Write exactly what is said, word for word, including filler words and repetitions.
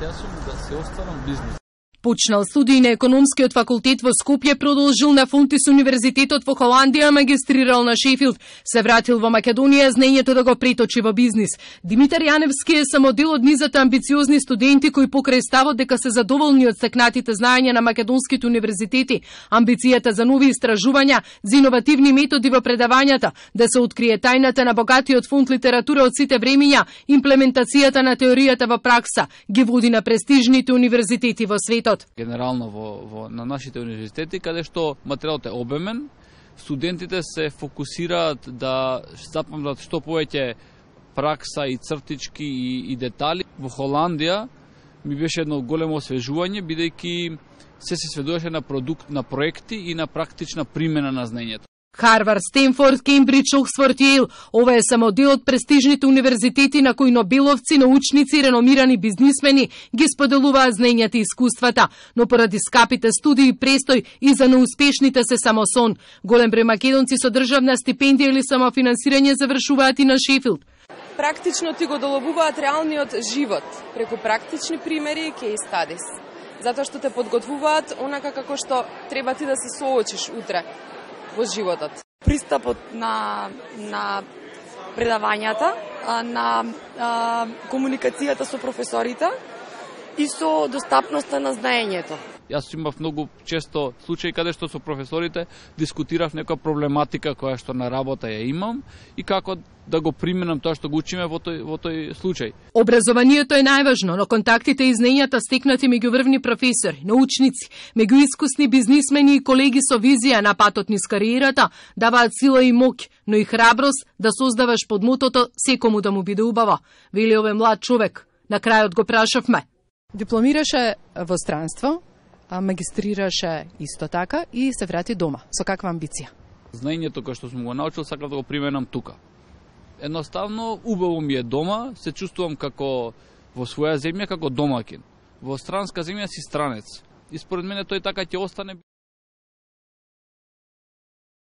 амбиција сум да се останам бизнис. Почнал студии на економскиот факултет во Скопје, продолжил на Фунтис универзитетот во Холандија, магистрирал на Шефилд, се вратил во Македонија знаењето да го преточи во бизнис. Димитар Јаневски е само дел од низата амбициозни студенти кои покрај ставот дека се задоволни од стекнатите знаења на македонските универзитети, амбицијата за нови истражувања, за иновативни методи во предавањата, да се открие тајната на богатиот фонд литература од сите времиња, имплементацијата на теоријата во пракса, ги води на престижните универзитети во светот. Генерално во, во на нашите универзитети, каде што материјалот е обемен, студентите се фокусираат да запамтат што повеќе пракса и цртички и, и детали. Во Холандија ми беше едно големо освежување, бидејќи се се сведуваше на продукт, на проекти и на практична примена на знаењето. Харвард, Стенфорд, Кембридж, Оксфорд, Јейл – ова е само дел од престижните универзитети на кои нобеловци, научници и реномирани бизнисмени ги споделуваат знаењата и искуствата, но поради скапите студии и престој и за неуспешните се само сон. Голем број македонци со државна стипендија или самофинансирање завршуваат и на Шефилд. Практично ти го доловуваат реалниот живот преку практични примери и кейс стадис, затоа што те подготвуваат онака како што треба ти да се соочиш утре во животот. Пристапот на, на предавањата, на а, комуникацијата со професорите и со достапноста на знаењето. Јас имав многу често случаи каде што со професорите дискутирав некоја проблематика која што на работа ја имам и како да го применам тоа што го учиме во тој, во тој случај. Образованието е најважно, но контактите и знаењата стекнати меѓу врвни професори, научници, меѓу искусни бизнисмени и колеги со визија на патот низ кариерата даваат сила и моќ, но и храброст да создаваш под мотото секому да му биде убаво, вели овој млад човек. На крајот го прашавме. Дипломираше во странство, магистрираше исто така и се врати дома. Со каква амбиција? Знаењето кое што сум го научил сакам да го применам тука. Едноставно, убаво ми е дома, се чувствувам како во своја земја, како домакин. Во странска земја си странец. И според мене тој така ќе остане.